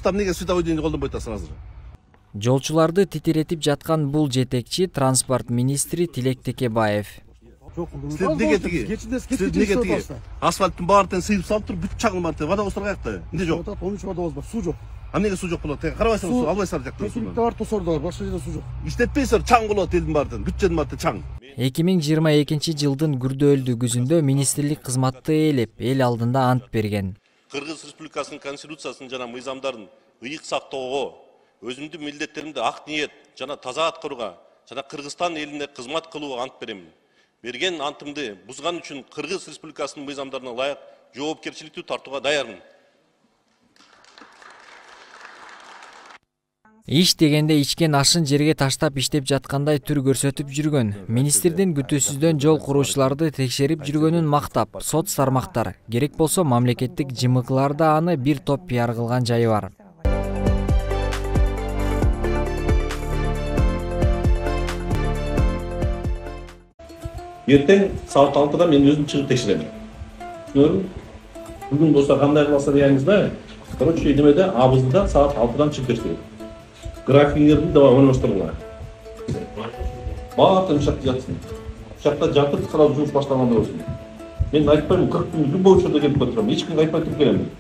Рустам эмнеге световой деңди колдонбой атасың азыр? Жолчуларды титиретип жаткан бул жетекчи транспорт министри Тилек Текебаев. Асфальттын баарын сыйып салып туруп бүт чагылмады. Водовоздор каякта? Эмне жок? Onun için водовоз бар, суу жок. Эмнеге суу жок болот? Карабайсыңбы, албайсыңар жакта. Текиликте бар, тосордо бар, башка жерде суу жок. Иштетпейсиңер, чаң болот элдин баардын. Бүт жердин баары чаң. 2022 жылдын күрдөөлдүү күзүндө министрлик кызматты ээлеп, эл алдында ант берген. Кыргыз Республикасынын конституциясын жана мыйзамдарын ыйык сактоого, өзүмдүн милдеттеримди ак ниет жана таза аткарууга жана Кыргызстан элине кызмат кылууга ант берем. Берген антымды бузган үчүн Кыргыз Республикасынын мыйзамдарына ылайык жоопкерчиликтүү тартууга даярмын. Иш дегенде ичкен ашын жерге таштап иштеп жаткандай түр көрсөтүп жүргөн. Министрдин күтүүсүздөн жол куруучуларды текшерип жүргөнүн мактап, соц тармактар, керек болсо мамлекеттик жымыкыларда аны бир топ пиар кылган жайы бар. Эртең саат 6-да мен өзүм чыгып текшерем. Түшүнөрүңбү? Бүгүн болсо кандай кыласыздар дегениңиз да? Короче, немеде абызда саат 6-дан чыгып текшерем. Графиңерди давай ойноштуруңар. Баардыгы ушакта жатсын. Ушакта жатып, сразу жумуш баштаганда болсун. Мен айтпайм, 40 күн любой учурда келип турам. Эч кимге айтпай туруп келем.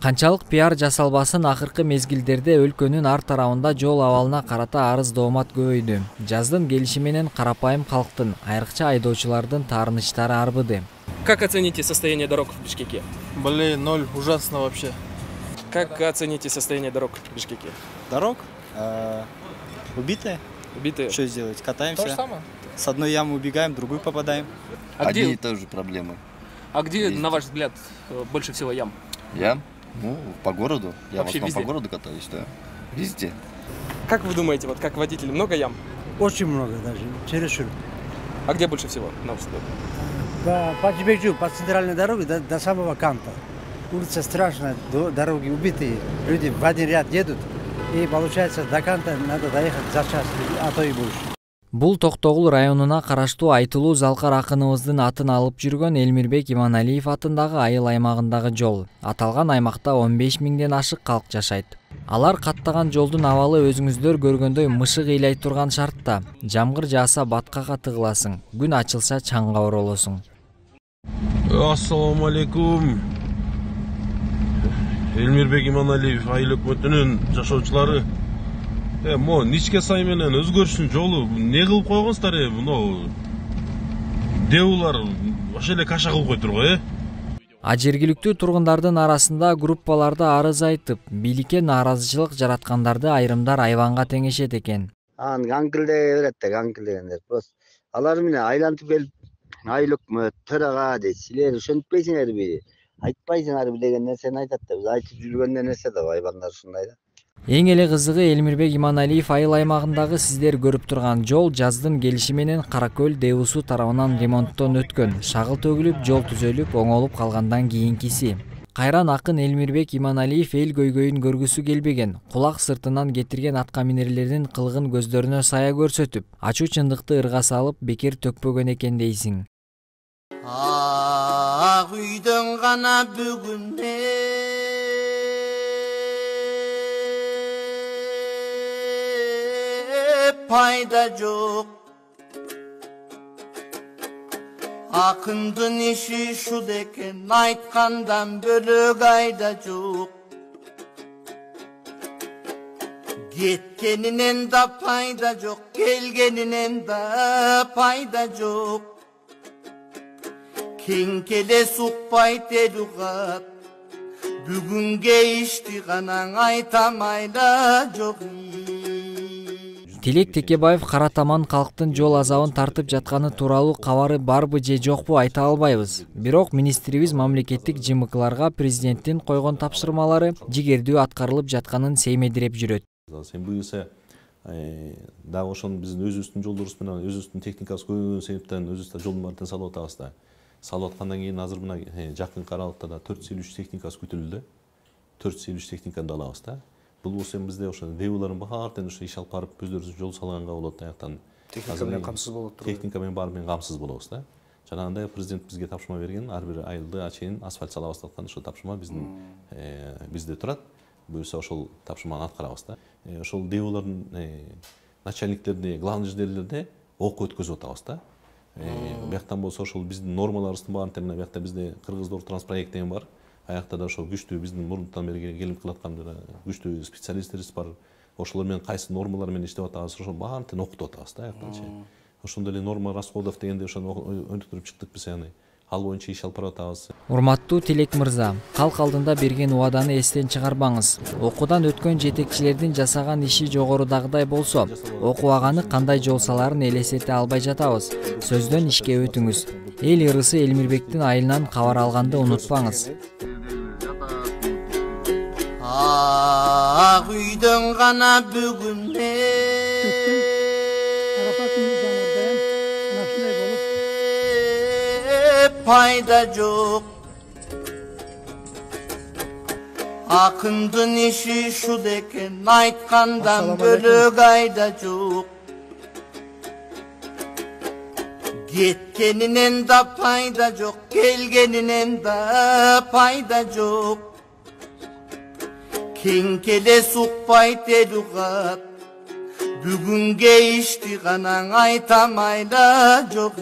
Канчалык пиар жасалбасын, акыркы мезгилдерде өлкөнүн ар тарабында жол абалына карата арыз доомат көбөйдү. Жаздын келиши менен карапайым калктын, айрыкча айдоочулардын таарынычтары арбыды. Как оцените состояние дорог в Бишкеке? Блин, 0, ужасно вообще. Как оцените состояние дорог в Бишкеке? Дорог? Убитые. Убитые? Что сделать? Катаемся. То же самое. С одной ямы убегаем, в другую попадаем. Одни и те же проблемы. А где, на ваш взгляд, больше всего ям? Ям? Ну, по городу. Я Вообще в основном везде? по городу катаюсь, да. Везде. Как вы думаете, вот как водитель, много ям? Очень много даже, чересчур. А где больше всего, на ваш взгляд? По Чебекчу, по центральной дороге до самого канта. Улица страшная, дороги убитые, люди в один ряд едут, и получается до канта надо доехать за час, а то и больше. Бул Токтогул районуна караштуу Айтылуу Залкар акыныбыздын атын алып жүргөн Элмирбек Иманалиев атындагы айыл аймагындагы жол. Аталган аймакта 15 миңден ашык калк жашайт. Алар каттаган жолдун абалы өзүңүздөр көргөндөй мышык ыйлай турган шартта. Жамгыр жааса баткага тыгыласың, күн ачылса чаңга оролосуң. Ассаламу алейкум. Элмирбек Иманалиев айыл өкмөтүнүн жашоочулары. Мо Ничке сай менен өзгөрүштүн жолу не кылып койгонсуздар мына деулар ошо эле каша кылып койтур го А жергиликтүү тургундардын арасында группаларда арыз айтып, бийликке нааразычылык жараткандарды айрымдар айванга теңешет экен. Аңкылдей берет да, аңкылдегендер. Просто алар менен айлантып келип, айыл өкмөт, төрага дейт, силер ошентпейсиңерби? Айтпайсыңарбы деген нерсени айтат да, биз айтып жүргөн нерсе да айвандар ушундай да. Эң эле кызыгы Элмирбек Иманалиев айыл аймагындагы сиздер көрүп турган жол жаздын келиши менен Каракөл ДУСУ тарабынан ремонттон өткөн. Шагыл төгүлүп, жол түзөлүп, оңолуп калгандан кийинкиси. Кайран акын Элмирбек Иманалиев эл көйгөйүн көргүсү келбеген. Кулак сыртынан кетирген атка минерлердин кылыгын көздөрүнө сая көрсөтүп, ачуу чындыкты ырга салып бекер төкпөгөн экен дейсиң. Ак үйдөн гана бүгүн пайда жок. Акындын иши шул экен, айткандан бөлөк айда жок. Кеткенинен да пайда жок, келгенинен да пайда жок. Кеңкеле сукпайт эл угат, бүгүнкө ишти гана айтам айла жок. Тилек Текебаев кара таман калктын жол азабын тартып жатканы тууралуу кабары барбы же жокпу айта албайбыз. Бирок министрибиз мамлекеттик жымыкыларга президенттин койгон тапшырмалары жигердүү аткарылып жатканын сеймедирип жүрөт. Буюрса дагы ошону биздин өзүбүздүн жолдорубуз менен өзүбүздүн техникабыз көбөйгөн себептен өзүбүз да жолдун баарын салып атабыз да. Салып аткандан кийин азыр мына жакынкы аралыкта да 453 техникасы күтүлдү. 453 техниканы да алабыз да. Бул болсо бизде ошо деулардын баардыгын иш алып барып өздөрүбүз жол салганга болот аяктан. Техника менен камсыз болот. Техника менен баары менен камсыз болобуз да. Жанагындай президент бизге тапшырма берген, ар бир айылды ачейин асфальт сала баштаткан ошо тапшырма бизде турат. буюрса ошол тапшырманы аткарабыз да. Ошол ДЭУлардын начальниктерине, главный инженерлерде окуу өткөзүп атабыз да. Бияктан болсо ошол биздин нормаларыбыздын баарын темина биякта бизде Кыргыздор транспаект деген бар. Аякта да ошол күчтүү биздин мурунтан бери келип кылаткан күчтүү специалисттерибиз бар. Ошолор менен кайсы нормалар менен иштеп атабыз, ошол баарын тең окутуп атабыз да аяктанчы. Ошондой эле норма расходов дегенде ошону өнүктүрүп чыктык биз, яны ал боюнча иш алып барып атабыз. Урматтуу Тилек мырза, калк алдында берген убаданы эстен чыгарбаңыз. Окуудан өткөн жетекчилердин жасаган иши жогорудагыдай болсо, окубаганы кандай жол саларын элестете албай жатабыз. Сөздөн ишке өтүңүз. Эл ырысы Элмирбектин айылынан кабар алганды унутпаңыз. Ак үйдөн гана бүгүн пайда жок. Акындын иши ушул экен, айткандан бөлөк айда жок. Кеткенинен да пайда жок, келгенинен да пайда жок. Кең келес укпайт эл угат, бүгүнге ишти гана айтам айла жок.